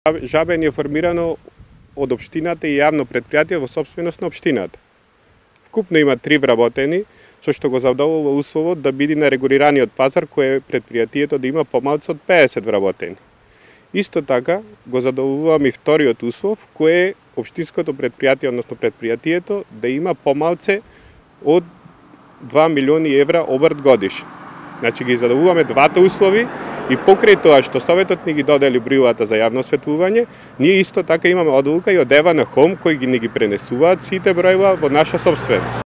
Жабен е формирано од општината и јавно предпријатие во сопственост на општината. Вкупно има 3 вработени, со што го задоволува условот да биде на регулираниот пазар, кој е предпријатието да има помалку од 50 вработени. Исто така го задоволуваме и вториот услов, кој е општинското предпријатие, односно предпријатието, да има помалце од 2 милиони евра обрт годишно. Значи ги задоволуваме двата услови и покрај тоа што Советот ни ги додели бројувата за јавно осветлување, ние исто така имаме одлука и од ЕВА на ХОМ кои ни ги пренесуваат сите бројува во наша сопственост.